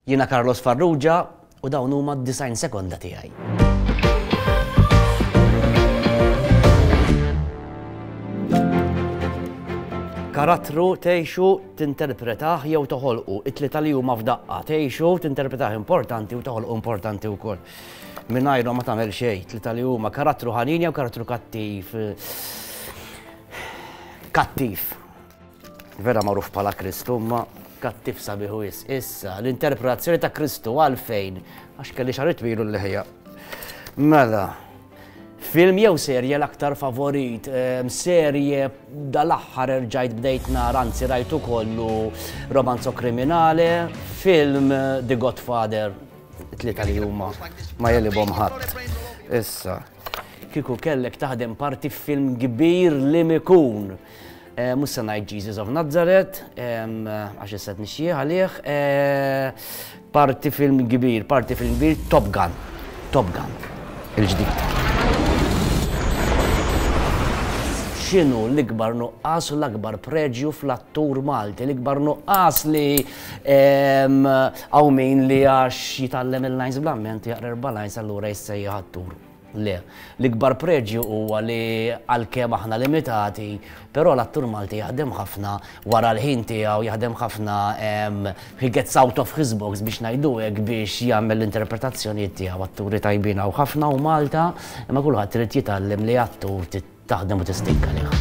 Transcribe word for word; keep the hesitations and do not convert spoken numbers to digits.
Jiena Carlos Farrugia u dawn huma d-disgħin sekonda tiegħi. Karattru tgħixu, tinterpretah jew toħolqu? It-tlieta li huma f'daqqa. Tgħixu, tinterpretah importanti u toħolqu importanti wkoll. Mingħajrhom ma tagħmel xejn, tlieta li huma. Karattru ħanin jew karattru kattiv? Kattiv. Vera magħruf bħala Kristu, ma kattiv sabiħu is. Issa, l-interpretazzjoni ta' Kristu għalfejn? Għax kelli xahar twilu l-liħja. Mela, film jew serje l-aktar favorit? Serje dal-aħħar erġajt bdejt nara, anzi rajtu kollu, Romanzo Kriminale, film The Godfather, tlieta li huma ma jelibhom ħadd. Issa, kieku kellek taħdem parti f'film kbir li mikun? Mhux se ngħid Jesus of Nazareth, għax issa nixjih għalih. Parti film kbir, parti film kbir, Top Gun. Top Gun, il-ġdid. X'inhu l-ikbar nuqqas u l-akbar preġju fl-attur Malti? L-ikbar nuqqas li hawn min li għax jitgħallem il-lines bl-amment jaqra erba' lines allura jissejjaħ attur. Le, l-ikbar preġju huwa li għalkemm aħna limitati, però l-attur Malti jaħdem ħafna wara l-ħin tiegħu, jaħdem ħafna, he gets out of his box biex ngħidu hekk biex jagħmel l-interpretazzjonijiet tiegħu. Atturi tajbin hawn ħafna u Malta, imma kulħadd irid jitgħallem li attur taħdem u tistinka lih.